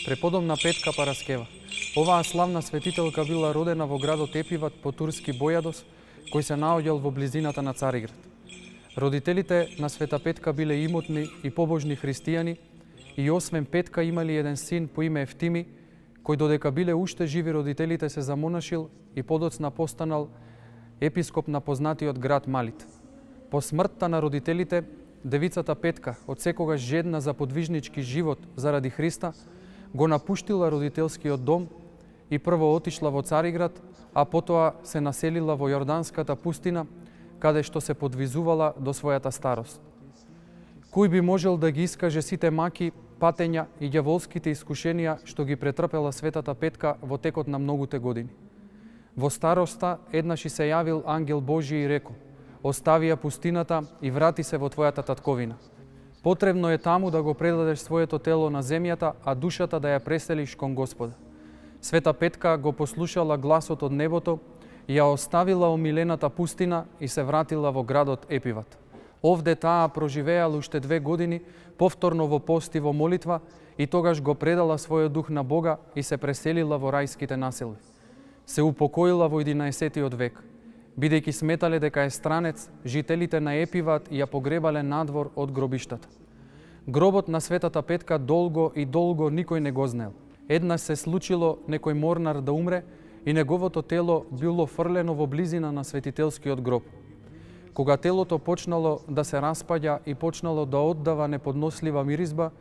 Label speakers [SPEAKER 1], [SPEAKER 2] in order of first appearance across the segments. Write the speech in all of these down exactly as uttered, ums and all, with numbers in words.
[SPEAKER 1] преподобна Петка Параскева. Оваа славна светителка била родена во градот Епиват по турски Бојадос, кој се наоѓал во близината на Цариград. Родителите на Света Петка биле имотни и побожни христијани и освен Петка имали еден син по име Евтими, кој додека биле уште живи родителите се замонашил и подоцна постанал епископ на познатиот град Малит. По смртта на родителите, девицата Петка, од секогаш жедна за подвижнички живот заради Христа, го напуштила родителскиот дом и прво отишла во Цариград, а потоа се населила во Јорданската пустина, каде што се подвизувала до својата старост. Кој би можел да ги искаже сите маки, патења и ѓаволските искушенија што ги претрпела Светата Петка во текот на многуте години? Во староста еднаш и се јавил ангел Божи и рекол: остави ја пустината и врати се во твојата татковина. Потребно е таму да го предадеш своето тело на земјата, а душата да ја преселиш кон Господа. Света Петка го послушала гласот од небото, ја оставила омилената пустина и се вратила во градот Епиват. Овде таа проживеала уште две години, повторно во пост и во молитва, и тогаш го предала својот дух на Бога и се преселила во рајските населби. Се упокоила во единаесеттиот век. Бидејќи сметале дека е странец, жителите на Епиват ја погребале надвор од гробиштата. Гробот на Светата Петка долго и долго никој не го знаел. Еднаш се случило некој морнар да умре и неговото тело било фрлено во близина на светителскиот гроб. Кога телото почнало да се распаѓа и почнало да оддава неподнослива миризба,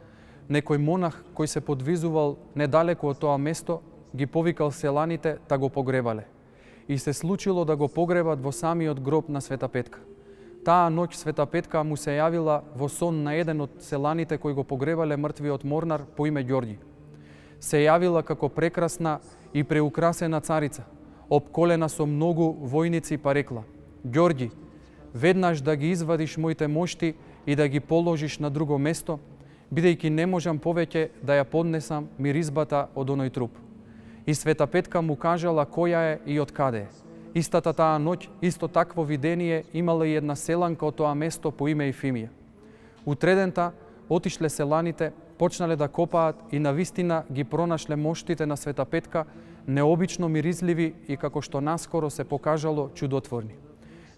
[SPEAKER 1] некој монах кој се подвизувал недалеку од тоа место ги повикал селаните да го погребале. И се случило да го погребат во самиот гроб на Света Петка. Таа ноќ Света Петка му се јавила во сон на еден од селаните кои го погребале мртвиот морнар по име Ѓорѓи. Се јавила како прекрасна и преукрасена царица, обколена со многу војници, па рекла: Ѓорѓи, веднаш да ги извадиш моите мошти и да ги положиш на друго место, бидејќи не можам повеќе да ја поднесам миризбата од оној труп. И Света Петка му кажала која е и од каде е. Истата таа ноќ, исто такво видение имала и една селанка од тоа место по име Ефимија. Утредента отишле селаните, почнале да копаат и навистина ги пронашле моштите на Света Петка, необично миризливи и, како што наскоро се покажало, чудотворни.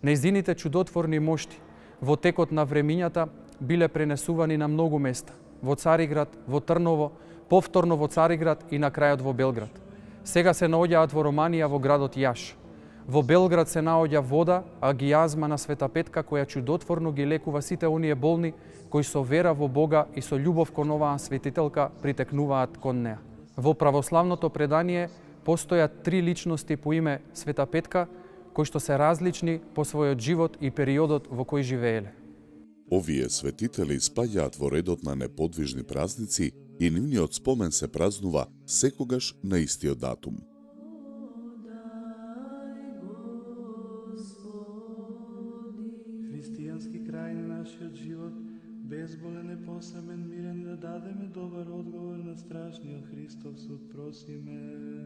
[SPEAKER 1] Нејзините чудотворни мошти во текот на времињата биле пренесувани на многу места: во Цариград, во Трново, повторно во Цариград и на крајот во Белград. Сега се наоѓаат во Романија во градот Јаш. Во Белград се наоѓа вода, агијазма на Света Петка, која чудотворно ги лекува сите оние болни кои со вера во Бога и со љубов кон оваа светителка притекнуваат кон неа. Во православното предание постојат три личности по име Света Петка, кои што се различни по својот живот и периодот во кој живееле.
[SPEAKER 2] Овие светители спаѓаат во редот на неподвижни празници и нивниот спомен се празнува секогаш на истиот датум.
[SPEAKER 3] Христијански крај на нашиот живот, безболен и посамен, мирен, да дадеме добар одговор на страшниот Христов суд, просиме.